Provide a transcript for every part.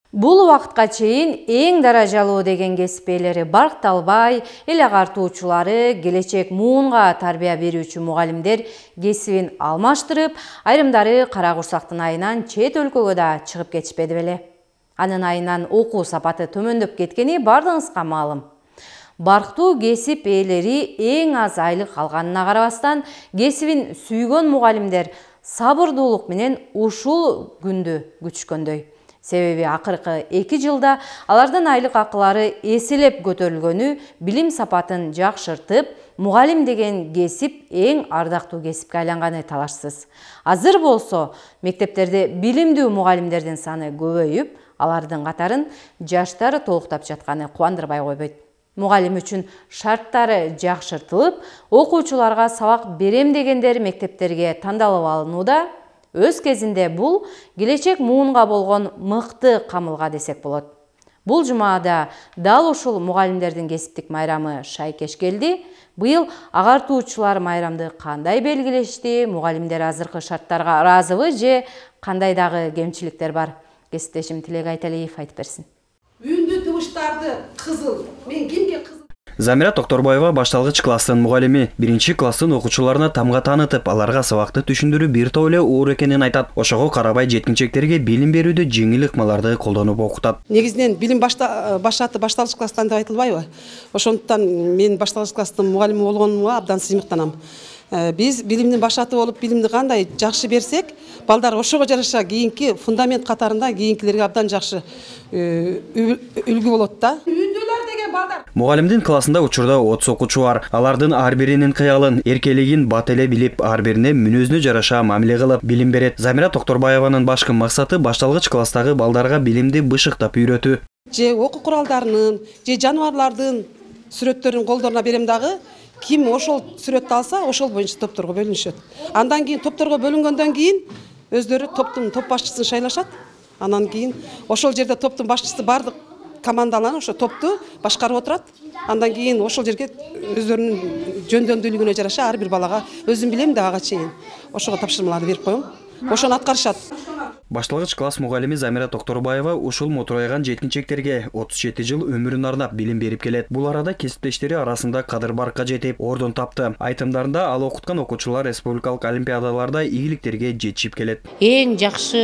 Бул убакытка чейин эң даражалуу деген кесип ээлери баркталбай, эл агартуучулары, келечек муунга тарбия берүүчү мугалимдер кесибин алмаштырып, айрымдары кара курсактын айынан чет өлкөгө да чыгып кетишпеди беле. Анын айынан окуу сапаты төмөндөп кеткени бардыгыңызга маалым. Барктуу кесип ээлери эң аз айлык алганына карабастан, кесибин сүйгөн мугалимдер сабырдуулук менен ушул күндү күтүшкөндөй. Себеби акыркы 2 жылда алардын айлык акылары эселеп көтөрүлгөнү билим сапатын жакшыртып, мугалим деген кесип эң ардактуу кесипке айланганы талашсыз. Азыр болсо мектептерде билимдүү мугалимдердин саны көбөйүп, алардын катарын жаштары толуктап жатканы кубандырбай койбойт. Мугалим үчүн шарттары жакшыртылып, окуучуларга сабак берем дегендер мектептерге тандалып алынууда. Өз кезинде бул келечек муунга болгон мыкты камылга десек болот. Бул жумада дал ушул мугалимдердин кесиптик майрамы шайкеш келди. Быйыл агартуучулар майрамды кандай белгилешти? Мугалимдер азыркы шарттарга ыраазыбы же кандай дагы кемчиликтер бар? Кесиптешим Тилек Айталиев айтып берсин. Үндү тубуштарды кызыл. Мен кимге кызыл? Замира Токторбаева башталгыч класстын мугалими. 1-класстын окуучуларына тамга таанытып, аларга сабакты түшүндүрүү бир топ эле оор экенин айтат. Ошого карабай жеткинчектерге билим берүүдө жеңил ыкмаларды колдонуп окутат. Негизинен билим башаты башталгыч класстан деп айтылбайбы? Ошондуктан мен башталгыч класстын мугалими болгонумга абдан сыймыктанам. Биз билимдин башаты болуп, билимди кандай жакшы берсек, балдар ошого жараша кийинки фундамент катарында кийинкилерге абдан жакшы үлгү болот да. Үйдөлөр деген балдар. Мугалимдин классында учурда 30 окуучу бар. Алардын ар биринин кыялын, эркелигин бат эле билип, ар бирине мүнөзүнө жараша мамиле кылып билим берет. Замира Токторбаеванын башкы максаты башталгыч класстагы балдарга билимди бышыктап үйрөтүү. Же окуу куралдарынын, же жаныбарлардын сүрөттөрүн колдоруна берем дагы. Ким ошол сүрөттү алса, ошол боюнча топторго бөлүнүшөт. Андан кийин топторго бөлүнгөндөн кийин өздөрү топтун топ башчысын шайлашат. Андан кийин ошол жерде топтун башчысы бардык командалар ошо топту башкарып отурат. Андан кийин ошол жерге өздөрүнүн жөндөмдүүлүгүнө жараша ар бир балага өзүм билем да ага чейин ошого тапшырмаларды берип коем. Ошону аткарышат. Башталгыч класс мугалими Замира Токторбаева ушул мотурайган жеткинчектерге 37 жыл өмүрүн арнап билим берип келет. Бул арада кесиптештери арасында кадыр баркка жетип, ордун тапты. Айтымдарында ал окуткан окуучулар республикалык олимпиадаларда ийгиликтерге жетишип келет. Эң жакшы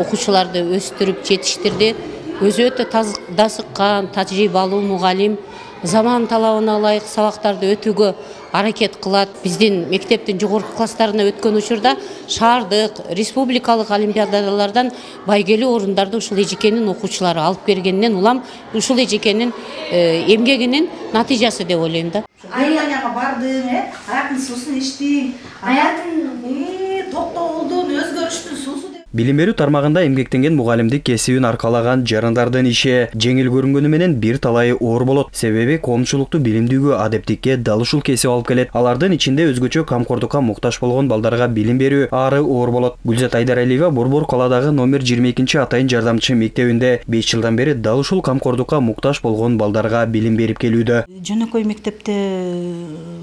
окуучуларды өстүрүп жетиштирди. Өзү өтө дасыккан, тажрыйбалуу мугалим. Заман талабына ылайык сабактарды өтүүгө аракет кылат. Биздин мектептин жогорку класстарына өткөн учурда шаардык, республикалык олимпиадалардан байгелүү орундарды ушул эжекенин окуучулары алып бергенинен улам ушул эжекенин эмгегинин натыйжасы деп ойлойм да. Аянага бардың, аяктын суусун ичтиң, аяктын токтолдун, өзгөрүштүн суусу. Билим берүү тармагында эмгектенген мугалимдик кесибин аркалаган жарандардын иши жеңил көрүнгөнү менен бир талайы оор болот. Себеби коомчулукту билимдүүгө, адептикке дал ушул кесип алып келет. Алардын ичинде өзгөчө камкордукка муктаж болгон балдарга билим берүү ары оор болот. Гүлзат Айдаралиева Борбор каладагы номер 22 атайын жардамчы мектебинде 5 жылдан бери дал ушул камкордукка муктаж болгон балдарга билим берип келүүдө. Жөнөкөй мектепте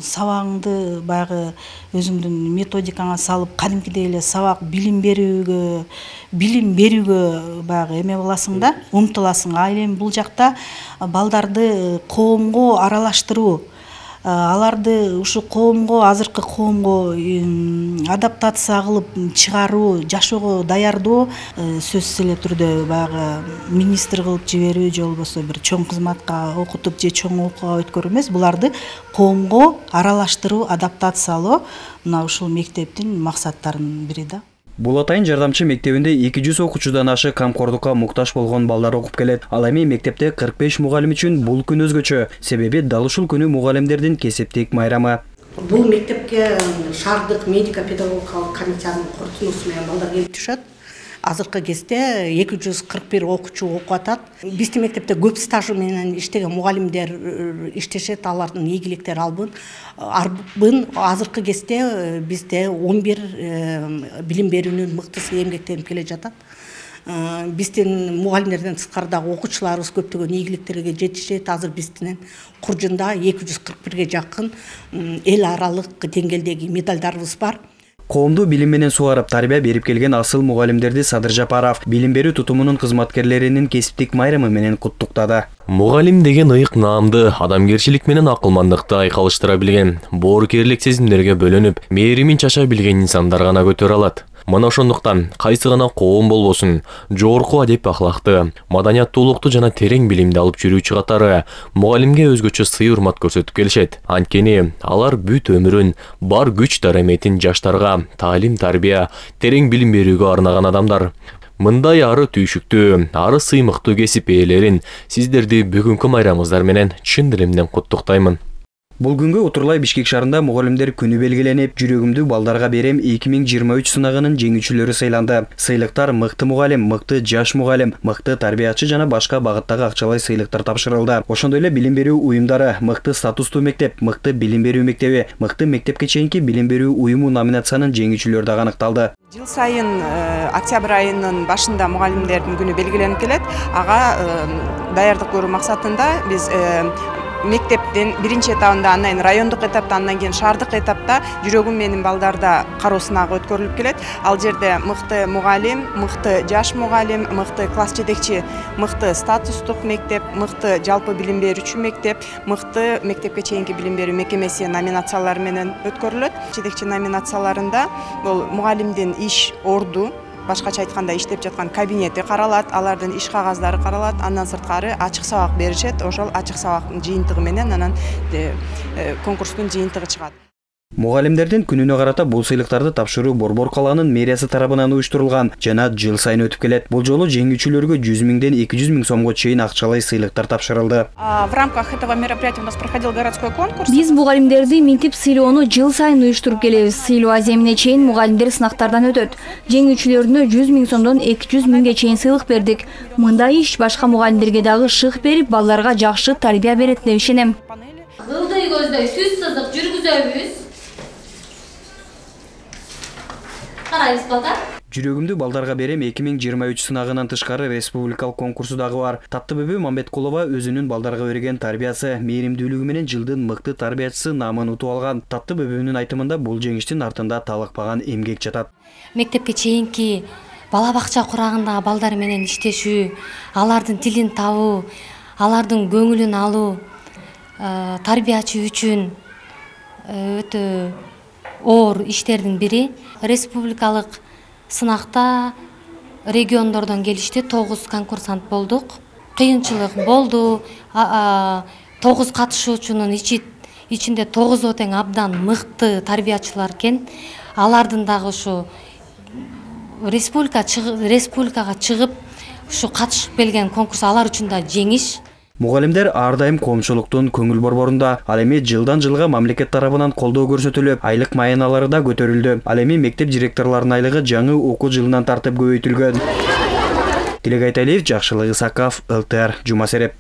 сабагыңды баягы өзүңдүн методикаңа салып, кадимкидей эле сабак билим берүүгө баягы эме боласың да, умтуласың. А эми бул жакта балдарды коомго аралаштыруу, аларды ушу коомго, азыркы коомго адаптация кылып чыгаруу, жашоого даярдоо сөзсүз эле түрдө баягы министр кылып жиберүү же болбосо бир чоң кызматка окутуп же чоң окууга өткөрүү эмес, буларды коомго аралаштыруу, адаптациялоо мына ушул мектептин максаттарынын бири да. Бул атайын жардамчы мектебинде 200 окуучудан ашы камкордукка муктаж болгон балдар окуп келет. Ал эми мектепте 45 мугалим үчүн бул күн өзгөчө. Себеби дал ушул күнү мугалимдердин кесиптик майрамы. Бул мектепке шаардык медико-педагогикалык комиссиянын корутундусу менен балдар келип түшөт. Азыркы кезде 241 окуучу окуп атат. Биздин мектепте көп стажы менен иштеген мугалимдер иштешет, алардын ийгиликтери арбын. Азыркы кезде бизде 11 билим берүүнүн мыктысы эмгектенип келе жатат. Биздин мугалимдерден тышкары дагы окуучуларыбыз көптөгөн ийгиликтерге жетишет. Азыр биздин Куржунда 241ге жакын эл аралык деңгээлдеги медалдарыбыз бар. Коомду билим менен сугарып тарбия берип келген асыл мугалимдерди Садыр Жапаров билим берүү тутумунун кызматкерлеринин кесиптик майрамы менен куттуктады. Мугалим деген ыйык наамды, адамгерчилик менен акылмандыкты айкалыштыра билген, боорукерлик сезимдерге бөлөнүп, мээримин чача билген инсандар гана көтөрө алат. Мына ошондуктан кайсы гана коом болбосун, жогорку адеп ахлакты, маданияттуулукту жана терең билимди алып жүрүүчү катары мугалимге өзгөчө сый-урмат көрсөтүп келишет. Анткени алар бүт өмүрүн, бар күч дараметин жаштарга таалим, тарбия, терең билим берүүгө арнаган адамдар. Мындай ары түйшүктүү, ары сыймыктуу кесип ээлерин сиздерди бүгүнкү майрамыңыздар менен чын диlimden куттуктаймын. Бул күнгө Утурлай Бишкек шаарында мугалимдер күнү белгиленип, жүрөгүмдү балдарга берем 2023 сынагынын жеңүүчүлөрү сыйланды. Сыйлыктар мыкты мугалим, мыкты жаш мугалим, мыкты тарбиячы жана башка багыттагы акчалай сыйлыктар тапшырылды. Ошондой эле билим берүү уюмдары, мыкты статустуу мектеп, мыкты билим берүү мектеби, мыкты мектепке чейинки билим берүү уюму номинациянын жеңүүчүлөрү дагы аныкталды. Жыл сайын октябрь айынын башында мугалимдердин күнү белгиленип келет. Ага даярдык көрүү максатында биз мектептен биринчи этабында, андан кийин райондук этапта, андан кийин шаардык этапта жүрөгүм менин балдарда кароо сынагы өткөрүлүп келет. Ал жерде мыкты мугалим, мыкты жаш мугалим, мыкты класс жетекчи, мыкты статустук мектеп, мыкты жалпы билим берүүчү мектеп, мыкты мектепке чейинки билим берүү мекемеси номинациялары менен өткөрүлөт. Жетекчи номинацияларында бул мугалимдин иш орду, башкача айтканда иштеп жаткан кабинети каралат, алардын иш кагаздары каралат, андан сырткары ачык сабак беришет. Ошол ачык сабактын жыйынтыгы менен анан конкурстун жыйынтыгы чыгат. Мугалимдердин күнүнө карата бул сыйлыктарды тапшыруу Борбор калаанын мэриясы тарабынан уюштурулган жана жыл сайын өтүп келет. Бул жолу жеңүүчүлөргө 100 000ден 200 000 сомго чейин акчалай сыйлыктар тапшырылды. В рамках этого мероприятия у нас проходил городской конкурс. Биз мугалимдерди минтип сыйлоону жыл сайын уюштуруп келебиз. Сыйлоо аземине чейин мугалимдер сынактардан өтөт. Жеңүүчүлөрүнө 100 000 сомдон 200 000ге чейин сыйлык бердик. Мындай иш башка мугалимдерге дагы шык берип, балдарга жакшы тарбия берет деп ишенем. Кылдый көздөй сүз сызык жүргүзөбүз. Жүрөгүмдү балдарга берем 2023 сынагынан тышкары республикалык конкурсу дагы бар. Таттыбүбү Мамбеткулова өзүнүн балдарга берген тарбиясы, мээримдүүлүгү менен жылдын мыкты тарбиячысы наамын утуп алган. Таттыбүбүнүн айтымында бул жеңиштин артында талыкпаган эмгек жатат. Мектепке чейинки бала бакча курагындагы балдар менен иштешүү, алардын тилин табуу, алардын көңүлүн алуу тарбиячы үчүн өтө оор иштердин бири. Республикалык сынакта региондордон келишти, 9 конкурсант болдук. Кыйынчылык болду. 9 катышуучунун ичинде 9 тең абдан мыкты тарбиячылар экен. Алардын дагы ушу республикага чыгып, ушу катышып келген конкурс алар үчүн да жеңиш. Мугалимдер ар дайым коомчулуктун көңүл борборунда. Ал эми жылдан жылга мамлекет тарабынан колдоо көрсөтүлүп, айлык маяналары да көтөрүлдү. Ал эми мектеп директорлорунун айлыгы жаңы окуу жылынан тартып көбөйтүлгөн. Тилек Айталиев, Жакшылык Исаков, ЛТР, Жума Сереп.